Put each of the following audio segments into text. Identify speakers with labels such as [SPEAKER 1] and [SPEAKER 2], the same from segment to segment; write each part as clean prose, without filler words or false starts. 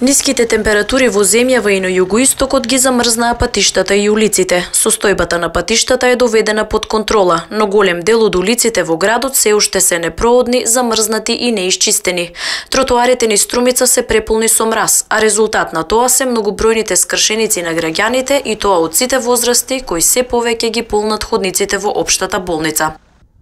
[SPEAKER 1] Ниските температури во земјава и на југоистокот ги замрзнаа патиштата и улиците. Состојбата на патиштата е доведена под контрола, но голем дел од улиците во градот се уште се непроодни, замрзнати и неисчистени. Тротоарите низ Струмица се преполни со мраз, а резултат на тоа се многобројните скршеници на граѓаните и тоа од сите возрасти кои се повеќе ги полнат ходниците во општата болница.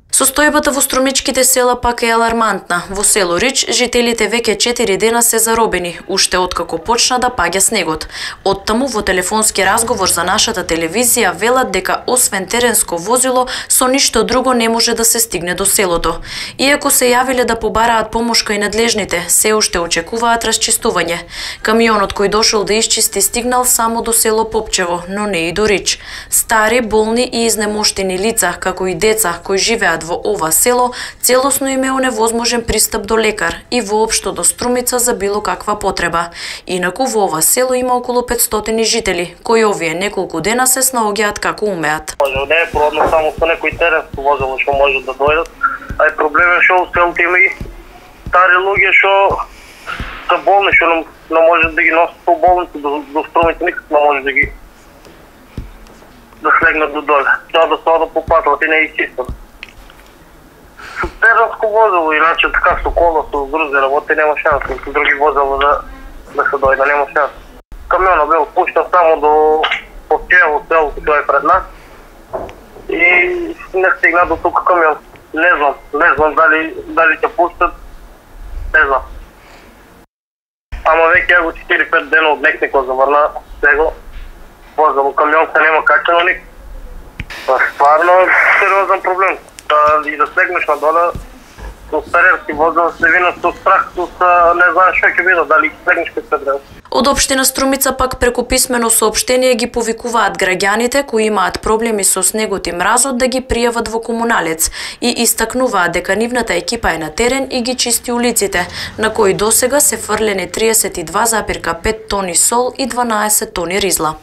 [SPEAKER 1] Состојбата во струмичките села пак е алармантна. Во село Рич жителите веќе 4 дена се заробени, уште откако почна да паѓа снегот. Оттаму во телефонски разговор за нашата телевизија велат дека освен теренско возило, со ништо друго не може да се стигне до селото. Иако се јавиле да побараат помош кај надлежните, се уште очекуваат расчистување. Камионот кој дошол да исчисти стигнал само до село Попчево, но не и до Рич. Стари, болни и изнемоштени лица, како и деца кои живеат во ова село, целосно им е оневозможен пристап до лекар и воопшто до Струмица за било каква потреба. Инаку во ова село има околу 500 жители, кои овие неколку дена се снаоѓаат како умеат.
[SPEAKER 2] Не е продно само со некој теренско возило што може да дојдат, а и проблем е што во селото има и стари луѓе што се болни, што не може да ги носат по болници до Струмица, никак не може да слегнат до доле. Тоа да се одат по патот и не изчистат. Со теренско возило, иначе така со кола, со други работи нема шанс, со други возила да се дојде, нема шанс. Камионот бил пуштен само до Попчево, селото тоа е пред нас и не стигна до тука камион. Не знам дали ќе пуштат, не знам. Ама веќе го 4-5 дена од некако заврна него возило, камион се нема качено ник. Стварно сериозен проблем. И да слегнеш надоле со старерски возила се вина со страх, не знаеш што ќе биде, дали ќе слегнеш кај се треба.
[SPEAKER 1] Од општина Струмица пак преку писмено соопштение ги повикуваат граѓаните кои имаат проблеми со снегот и мразот да ги пријават во комуналец и истакнуваат дека нивната екипа е на терен и ги чисти улиците, на кои досега се фрлени 32,5 тони сол и 12 тони ризла.